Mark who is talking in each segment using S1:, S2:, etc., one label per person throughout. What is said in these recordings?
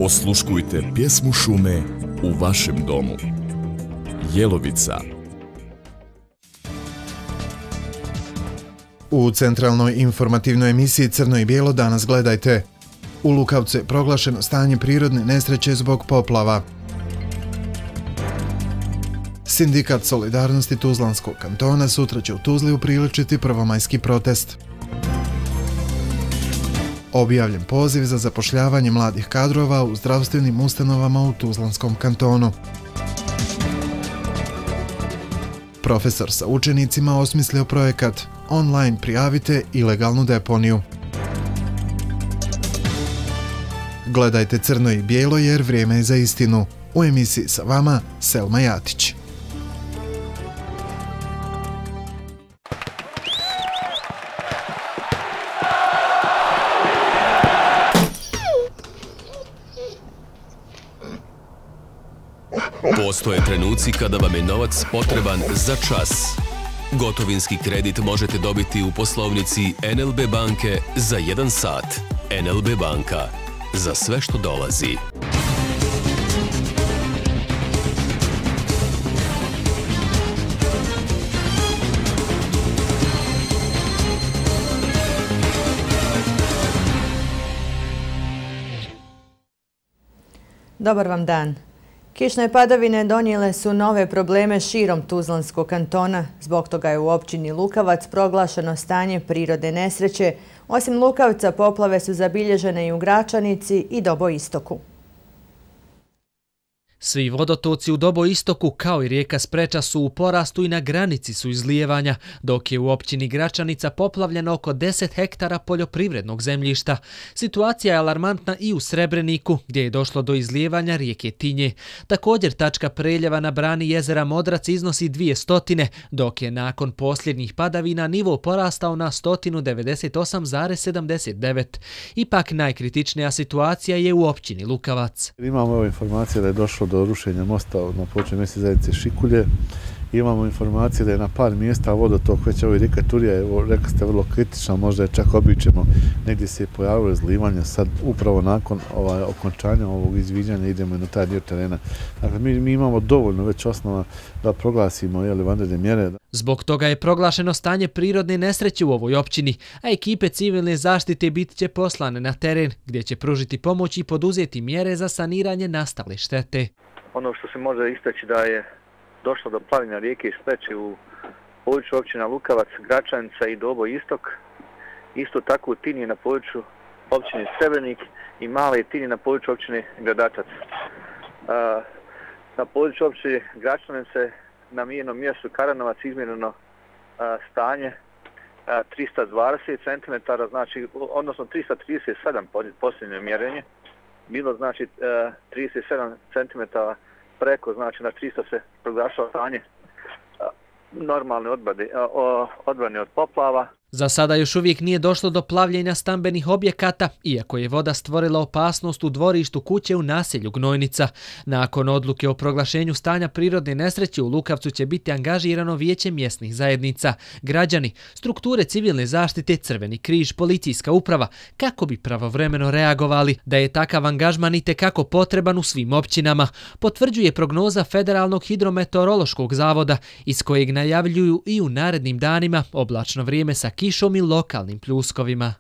S1: Osluškujte pjesmu šume u vašem domu. Jelovica.
S2: U centralnoj informativnoj emisiji Crno i bijelo danas gledajte. U Lukavcu je proglašeno stanje prirodne nesreće zbog poplava. Sindikat Solidarnosti Tuzlanskog kantona sutra će u Tuzli upriličiti prvomajski protest. Objavljen poziv za zapošljavanje mladih kadrova u zdravstvenim ustanovama u Tuzlanskom kantonu. Profesor sa učenicima osmislio projekat Online prijavite ilegalnu deponiju. Gledajte Crno i bijelo jer vrijeme je za istinu. U emisiji sa vama Selma Jatić.
S3: Postoje trenuci kada vam je novac potreban za čas. Gotovinski kredit možete dobiti u poslovnici NLB banke za 1 sat. NLB banka. Za sve što dolazi.
S4: Dobar vam dan. Kišne padavine donijele su nove probleme širom Tuzlanskog kantona. Zbog toga je u općini Lukavac proglašeno stanje prirodne nesreće. Osim Lukavca, poplave su zabilježene i u Gračanici i Doboistoku.
S5: Svi vodotoci u Doboistoku kao i rijeka Spreča su u porastu i na granici su izlijevanja, dok je u općini Gračanica poplavljeno oko 10 hektara poljoprivrednog zemljišta. Situacija je alarmantna i u Srebreniku, gdje je došlo do izlijevanja rijeke Tinje. Također tačka preljeva na brani jezera Modrac iznosi 200, dok je nakon posljednjih padavina nivo porastao na 198,79. Ipak najkritičnija situacija je u općini Lukavac.
S6: Imamo informacije da je došlo do rušenja mosta na području mjesne zajednice Šikulje. Imamo informacije da je na par mjesta vodotok, već ovo rijeka Turija je, rekli ste, vrlo kritična, možda je čak običemo, negdje se je pojavilo izlivanje, sad upravo nakon okončanja ovog izviđanja idemo na taj dio terena. Dakle, mi imamo dovoljno već osnova da proglasimo vanredne mjere.
S5: Zbog toga je proglašeno stanje prirodne nesreće u ovoj općini, a ekipe civilne zaštite bit će poslane na teren, gdje će pružiti pomoć i poduzeti mjere za saniranje nastale štete.
S7: Ono što se može istaći da je došlo do plavljenja rijeke Spreče u području općina Lukavac, Gračanica i Doboistok. Isto tako u Tinji na području općine Srebrenik i Male Tinji na području općine Gradačac. Na području općine Gračanice na mjernom mjestu Karanovac izmjereno stanje 320 cm, znači, odnosno 337 posljednje mjerenje. Bilo znači 37 cm preko, znači na 300 se proglašava stanje normalne odbrane od poplava.
S5: Za sada još uvijek nije došlo do plavljenja stambenih objekata, iako je voda stvorila opasnost u dvorištu kuće u naselju Gnojnica. Nakon odluke o proglašenju stanja prirodne nesreće u Lukavcu će biti angažirano vijeće mjesnih zajednica, građani, strukture civilne zaštite, Crveni križ, policijska uprava, kako bi pravovremeno reagovali. Da je takav angažman itekako potreban u svim općinama, potvrđuje prognoza Federalnog hidrometeorološkog zavoda, iz kojeg najavljuju i u narednim danima oblačno vrijeme sa kišom i lokalnim pljuskovima.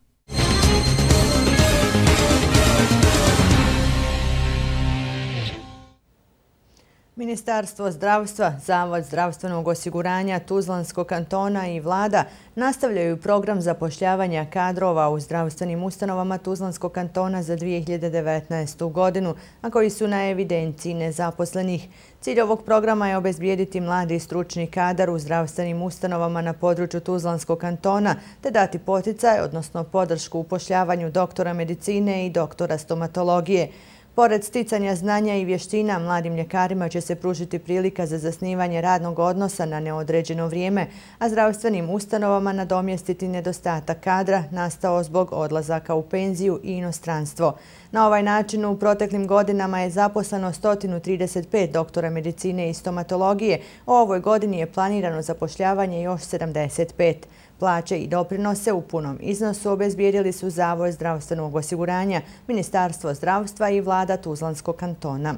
S4: Ministarstvo zdravstva, Zavod zdravstvenog osiguranja Tuzlanskog kantona i vlada nastavljaju program zapošljavanja kadrova u zdravstvenim ustanovama Tuzlanskog kantona za 2019. godinu, a koji su na evidenciji nezaposlenih. Cilj ovog programa je obezbijediti mladi stručni kadar u zdravstvenim ustanovama na području Tuzlanskog kantona te dati poticaj, odnosno podršku upošljavanju doktora medicine i doktora stomatologije. Pored sticanja znanja i vještina, mladim ljekarima će se pružiti prilika za zasnivanje radnog odnosa na neodređeno vrijeme, a zdravstvenim ustanovama nadomjestiti nedostatak kadra nastao zbog odlazaka u penziju i inostranstvo. Na ovaj način u proteklim godinama je zaposleno 135 doktora medicine i stomatologije, a u ovoj godini je planirano zapošljavanje još 75. Plaće i doprinose u punom iznosu obezbijedili su Zavod zdravstvenog osiguranja, Ministarstvo zdravstva i vlada Tuzlanskog kantona.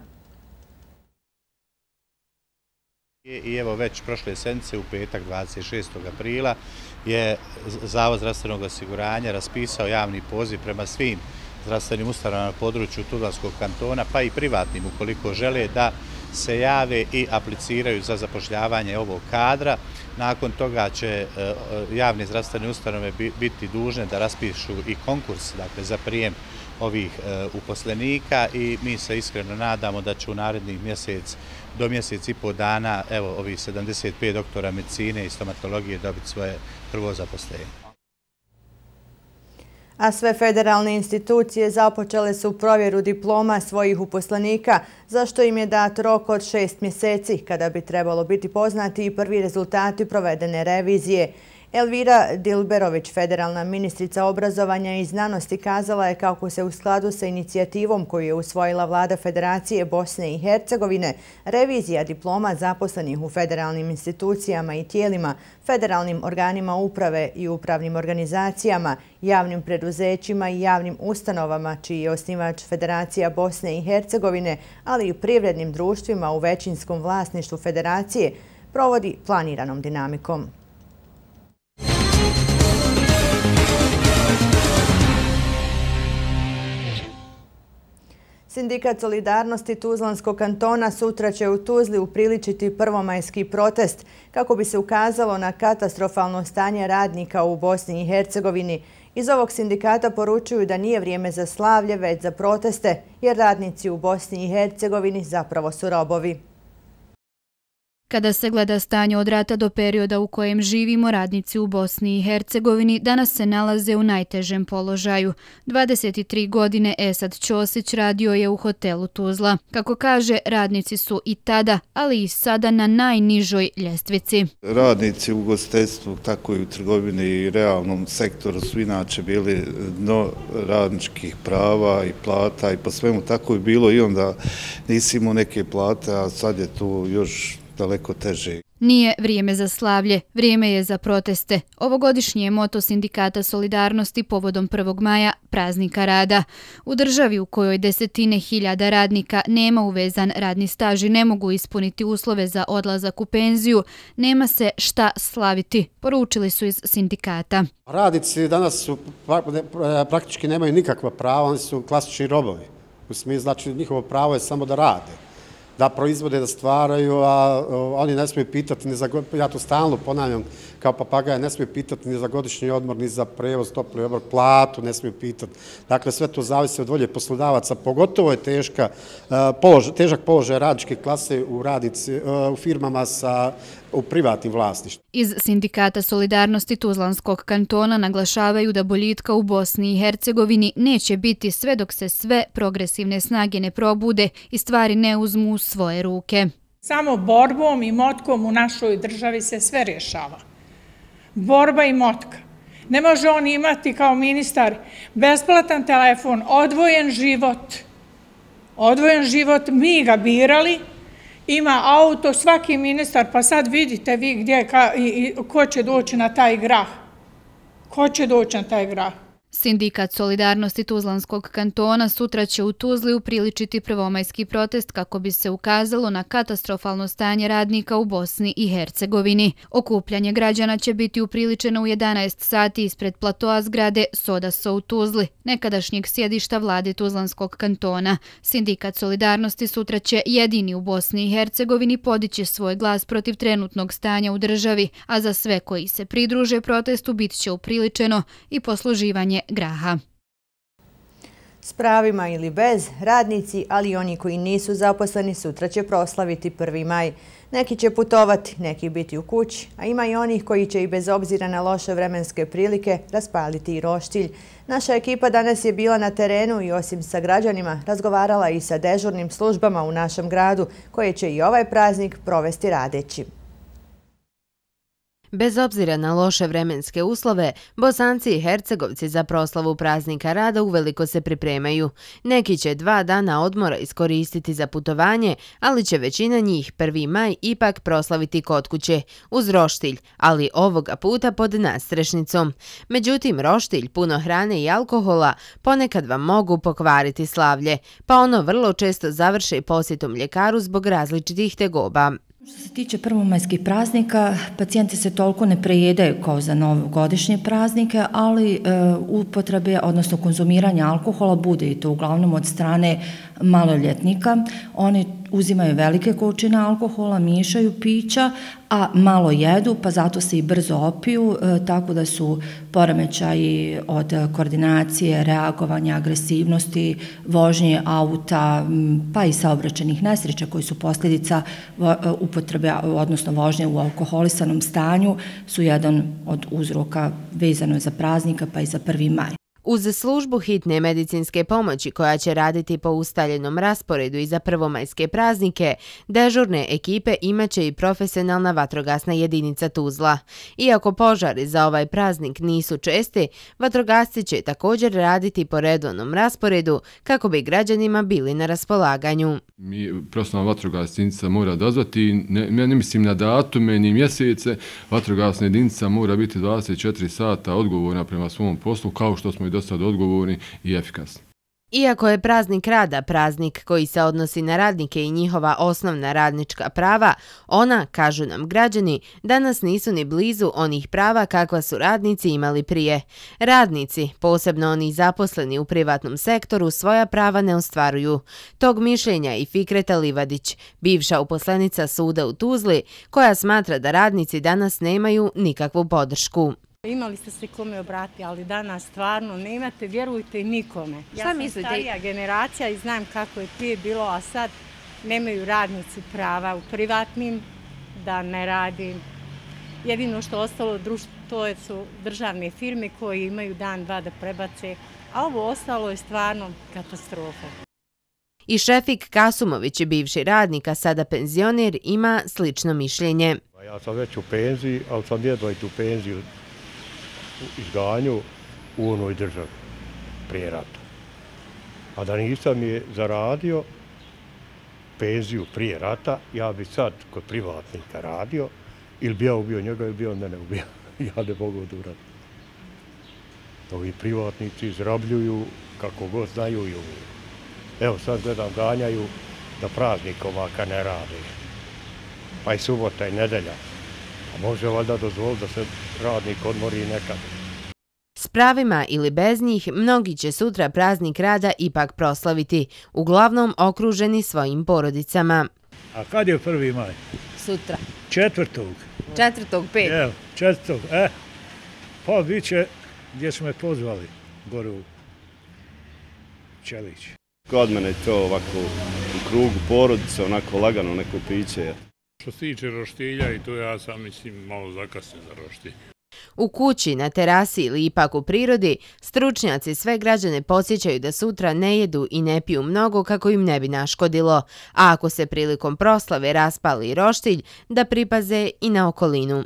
S8: I evo već prošle sedmice u petak 26. aprila je Zavod zdravstvenog osiguranja raspisao javni poziv prema svim zdravstvenim ustanovama na području Tuzlanskog kantona, pa i privatnim ukoliko žele da se jave i apliciraju za zapošljavanje ovog kadra. Nakon toga će javne zdravstvene ustanove biti dužne da raspišu i konkurs, dakle, za prijem ovih uposlenika i mi se iskreno nadamo da će u narednih do mjesec i pol dana ovih 75 doktora medicine i stomatologije dobiti svoje prvo zaposlenje.
S4: A sve federalne institucije započele su provjeru diploma svojih uposlenika, za što im je dat rok od 6 mjeseci, kada bi trebalo biti poznati i prvi rezultati provedene revizije. Elvira Dilberović, federalna ministrica obrazovanja i znanosti, kazala je kako se u skladu sa inicijativom koju je usvojila vlada Federacije Bosne i Hercegovine, revizija diploma zaposlenih u federalnim institucijama i tijelima, federalnim organima uprave i upravnim organizacijama, javnim preduzećima i javnim ustanovama, čiji je osnivač Federacija Bosne i Hercegovine, ali i privrednim društvima u većinskom vlasništvu Federacije, provodi planiranom dinamikom. Sindikat Solidarnosti Tuzlanskog kantona sutra će u Tuzli upriličiti prvomajski protest kako bi se ukazalo na katastrofalno stanje radnika u Bosni i Hercegovini. Iz ovog sindikata poručuju da nije vrijeme za slavlje, već za proteste, jer radnici u Bosni i Hercegovini zapravo su robovi.
S9: Kada se gleda stanje od rata do perioda u kojem živimo, radnici u Bosni i Hercegovini danas se nalaze u najtežem položaju. 23 godine Esad Ćosić radio je u hotelu Tuzla. Kako kaže, radnici su i tada, ali i sada na najnižoj ljestvici.
S10: Radnici u ugostiteljstvu, tako i u trgovini i realnom sektoru su inače bili dno radničkih prava i plata i po svemu tako je bilo i onda nisi imao neke plate, a sad je tu još daleko teže.
S9: Nije vrijeme za slavlje, vrijeme je za proteste. Ovogodišnji je moto sindikata Solidarnosti povodom 1. maja praznika rada. U državi u kojoj desetine hiljada radnika nema uvezan radni staž i ne mogu ispuniti uslove za odlazak u penziju, nema se šta slaviti, poručili su iz sindikata.
S11: Radnici danas praktički nemaju nikakva prava, oni su klasični robovi. U smislu, znači njihovo pravo je samo da rade, da proizvode, da stvaraju, a oni ne smiju pitati, ja to stalno ponavljam kao papagaja, ne smiju pitati ni za godišnji odmor, ni za prevoz, topli obrok, platu ne smiju pitati. Dakle, sve to zavisi od volje poslodavaca, pogotovo je težak položaj radničke klase u firmama u privatnim vlasništvom.
S9: Iz sindikata Solidarnosti Tuzlanskog kantona naglašavaju da boljitka u Bosni i Hercegovini neće biti sve dok se sve progresivne snage ne probude i stvari ne uzmu u svoje ruke.
S12: Samo borbom i motkom u našoj državi se sve rješava. Borba i motka. Ne može on imati kao ministar besplatan telefon, odvojen život, mi ga birali, ima auto, svaki ministar, pa sad vidite vi gdje, ko će doći na taj grah. Ko će doći na taj grah?
S9: Sindikat Solidarnosti Tuzlanskog kantona sutra će u Tuzli upriličiti prvomajski protest kako bi se ukazalo na katastrofalno stanje radnika u Bosni i Hercegovini. Okupljanje građana će biti upriličeno u 11 sati ispred platoa zgrade Sodaso u Tuzli, nekadašnjeg sjedišta vlade Tuzlanskog kantona. Sindikat Solidarnosti sutra će jedini u Bosni i Hercegovini podići svoj glas protiv trenutnog stanja u državi, a za sve koji se pridruže protestu bit će upriličeno i posluživanje graha.
S4: S pravima ili bez, radnici, ali i oni koji nisu zaposleni sutra će proslaviti 1. maj. Neki će putovati, neki biti u kući, a ima i onih koji će i bez obzira na loše vremenske prilike raspaliti i roštilj. Naša ekipa danas je bila na terenu i osim sa građanima razgovarala i sa dežurnim službama u našem gradu, koje će i ovaj praznik provesti radeći.
S13: Bez obzira na loše vremenske uslove, Bosanci i Hercegovci za proslavu praznika rada uveliko se pripremaju. Neki će 2 dana odmora iskoristiti za putovanje, ali će većina njih 1. maj ipak proslaviti kod kuće, uz roštilj, ali ovoga puta pod nadstrešnicom. Međutim, roštilj, puno hrane i alkohola ponekad vam mogu pokvariti slavlje, pa ono vrlo često završe posjetom ljekaru zbog različitih tegoba.
S14: Što se tiče prvomajskih praznika, pacijenti se toliko ne prejedaju kao za novogodišnje praznike, ali upotrebe, odnosno konzumiranje alkohola bude i to uglavnom od strane maloljetnika. Oni uzimaju velike količine alkohola, miješaju pića, a malo jedu, pa zato se i brzo opiju, tako da su poremećaji od koordinacije, reagovanja, agresivnosti, vožnje auta, pa i saobraćajnih nesreća koji su posljedica upotrebe, odnosno vožnje u alkoholisanom stanju, su jedan od uzroka vezano za praznika pa i za 1. maj.
S13: Uz službu hitne medicinske pomoći koja će raditi po ustaljenom rasporedu i za prvomajske praznike, dežurne ekipe imaće i profesionalna vatrogasna jedinica Tuzla. Iako požari za ovaj praznik nisu česti, vatrogasci će također raditi po redovnom rasporedu kako bi građanima bili na raspolaganju.
S15: Profesionalna vatrogasna jedinica mora dozvati, ne mislim na datume ni mjesece, vatrogasna jedinica mora biti 24 sata odgovorna prema svom poslu, kao što smo i do sada odgovorni i efikasni.
S13: Iako je praznik rada praznik koji se odnosi na radnike i njihova osnovna radnička prava, ona, kažu nam građani, danas nisu ni blizu onih prava kakva su radnici imali prije. Radnici, posebno oni zaposleni u privatnom sektoru, svoja prava ne ostvaruju. Tog mišljenja i Fikreta Livadić, bivša uposlenica suda u Tuzli, koja smatra da radnici danas nemaju nikakvu podršku.
S16: Imali ste se kome obratiti, ali danas stvarno nemate, vjerujte, nikome. Ja sam starija generacija i znam kako je prije bilo, a sad nemaju radnici prava u privatnim, da ne radi. Jedino što ostalo to su državne firme koje imaju dan, 2 da prebace, a ovo ostalo je stvarno katastrofa.
S13: I Šefik Kasumović, bivši radnik, a sada penzioner, ima slično mišljenje.
S17: Ja sam već u penziji, ali sam jedva i tu penziju izganju u onoj državi prije rata. A da nisam je zaradio penziju prije rata, ja bi sad kod privatnika radio, ili bi ja ubio njega, ili bi on mene ubio. Ja ne mogu odurati. Ovi privatnici izrabljuju kako god znaju i umiju. Evo sad gledam, ganjaju da praznikova kad ne rade. Pa i subota i nedelja. A može valjda dozvoliti da se radnik odmori nekad.
S13: S pravima ili bez njih, mnogi će sutra praznik rada ipak proslaviti, uglavnom okruženi svojim porodicama.
S18: A kad je 1. maj?
S13: Sutra.
S18: 4.
S13: 4.5.
S18: Evo, 4. Pa bit će gdje smo me pozvali, gore u Čelić.
S19: Kod mene je to ovako u krugu porodice, onako lagano neko piće.
S20: Što se tiče roštilja i to ja sam mislim malo zakasnio za roštilj.
S13: U kući, na terasi ili ipak u prirodi, stručnjaci sve građane podsjećaju da sutra ne jedu i ne piju mnogo kako im ne bi naškodilo, a ako se prilikom proslave raspali roštilj, da pripaze i na okolinu.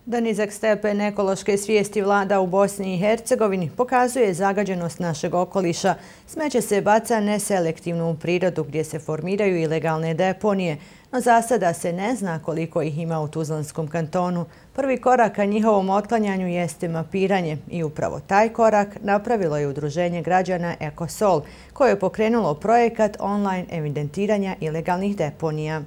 S4: Da nizak stepen ekološke svijesti vlada u Bosni i Hercegovini pokazuje zagađenost našeg okoliša. Smeće se baca neselektivno u prirodu gdje se formiraju ilegalne deponije, no za sada se ne zna koliko ih ima u Tuzlanskom kantonu. Prvi korak ka njihovom otklanjanju jeste mapiranje i upravo taj korak napravilo je Udruženje građana Ekosol, koje je pokrenulo projekat online evidentiranja ilegalnih deponija.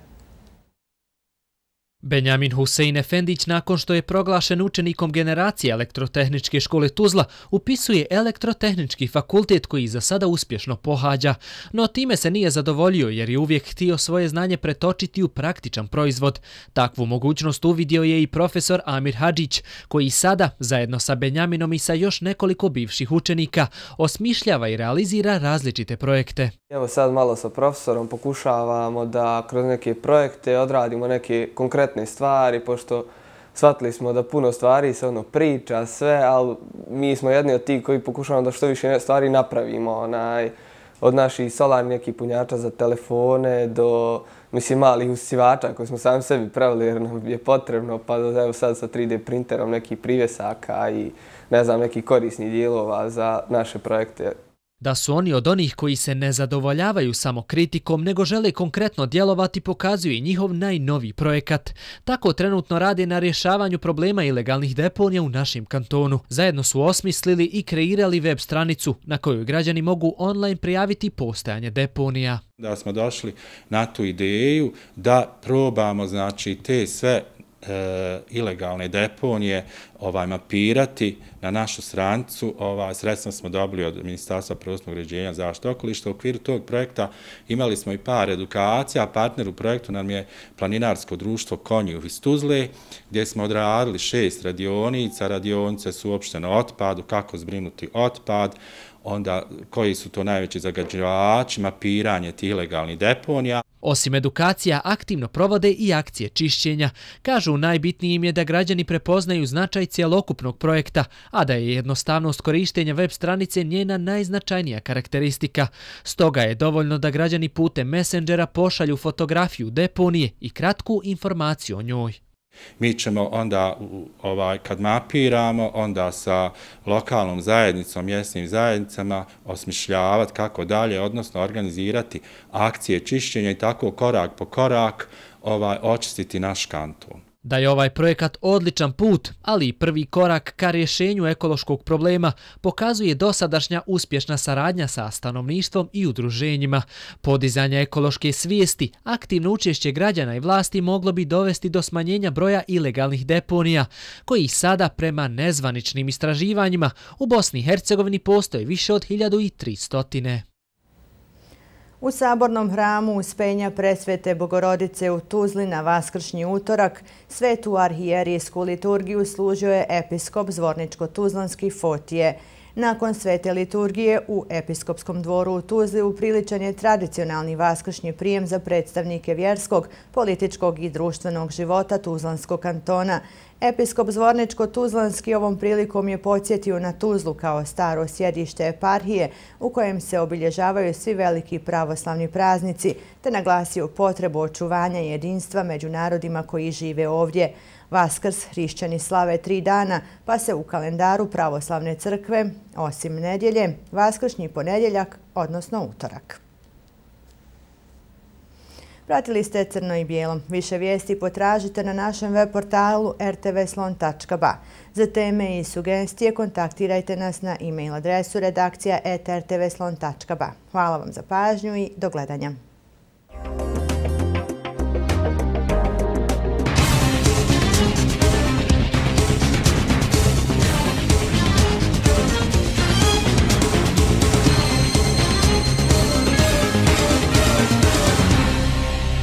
S5: Benjamin Husein Efendić, nakon što je proglašen učenikom generacije Elektrotehničke škole Tuzla, upisuje Elektrotehnički fakultet koji za sada uspješno pohađa. No time se nije zadovoljio jer je uvijek htio svoje znanje pretočiti u praktičan proizvod. Takvu mogućnost uvidio je i profesor Amir Hadžić, koji sada, zajedno sa Benjaminom i sa još nekoliko bivših učenika, osmišljava i realizira različite projekte.
S21: Evo sad malo sa profesorom pokušavamo da kroz neke projekte odradimo neke konkretne stvari, pošto shvatili smo da puno stvari se priča, sve, ali mi smo jedni od tih koji pokušavamo da što više stvari napravimo. od naših solarnih nekih punjača za telefone do malih usisivača koje smo sami sebi pravili jer nam je potrebno, pa evo sad sa 3D printerom nekih privjesaka i nekih korisnih dijelova za naše projekte.
S5: Da su oni od onih koji se ne zadovoljavaju samo kritikom, nego žele konkretno djelovati, pokazuje i njihov najnoviji projekat. Tako trenutno rade na rješavanju problema ilegalnih deponija u našem kantonu. Zajedno su osmislili i kreirali web stranicu na kojoj građani mogu online prijaviti postojanje deponija.
S1: Da smo došli na tu ideju da probamo te sve ilegalne deponije mapirati na našu stranicu. Sredstva smo dobili od Ministarstva prostornog uređenja i zaštite okoliša. U okviru tog projekta imali smo i par edukacija, a partner u projektu nam je Planinarsko društvo Konjuh iz Tuzle, gdje smo odradili 6 radionica. Radionice su uopštene o otpadu, kako zbrinuti otpad, onda koji su to najveći zagađivači, mapiranje tih ilegalnih deponija.
S5: Osim edukacija, aktivno provode i akcije čišćenja. Kažu, najbitnijim je da građani prepoznaju značaj cjelokupnog projekta, a da je jednostavnost korištenja web stranice njena najznačajnija karakteristika. Stoga je dovoljno da građani putem Messengera pošalju fotografiju deponije i kratku informaciju o njoj.
S1: Mi ćemo onda, kad mapiramo, onda sa lokalnom zajednicom, mjesnim zajednicama osmišljavati kako dalje, odnosno organizirati akcije čišćenja i tako korak po korak očistiti naš kanton.
S5: Da je ovaj projekat odličan put, ali i prvi korak ka rješenju ekološkog problema, pokazuje dosadašnja uspješna saradnja sa stanovništvom i udruženjima. Podizanje ekološke svijesti, aktivno učešće građana i vlasti moglo bi dovesti do smanjenja broja ilegalnih deponija, koji sada prema nezvaničnim istraživanjima u Bosni i Hercegovini postoje više od 1300.
S4: U Sabornom hramu Uspenja Presvete Bogorodice u Tuzli na vaskršnji utorak svetu arhijerijsku liturgiju služio je episkop Zvorničko-Tuzlanski Fotije. Nakon svete liturgije u episkopskom dvoru u Tuzli upriličan je tradicionalni vaskršnji prijem za predstavnike vjerskog, političkog i društvenog života Tuzlanskog kantona. Episkop Zvorničko-Tuzlanski ovom prilikom je podsjetio na Tuzlu kao staro sjedište eparhije u kojem se obilježavaju svi veliki pravoslavni praznici, te naglasio potrebu očuvanja jedinstva među narodima koji žive ovdje. Vaskrs hrišćani slave 3 dana, pa se u kalendaru pravoslavne crkve, osim nedjelje, vaskršnji ponedjeljak, odnosno utorak. Pratili ste Crno i bijelo. Više vijesti potražite na našem web portalu rtvslon.ba. Za teme i sugestije kontaktirajte nas na e-mail adresu redakcija@rtvslon.ba. Hvala vam za pažnju i do gledanja.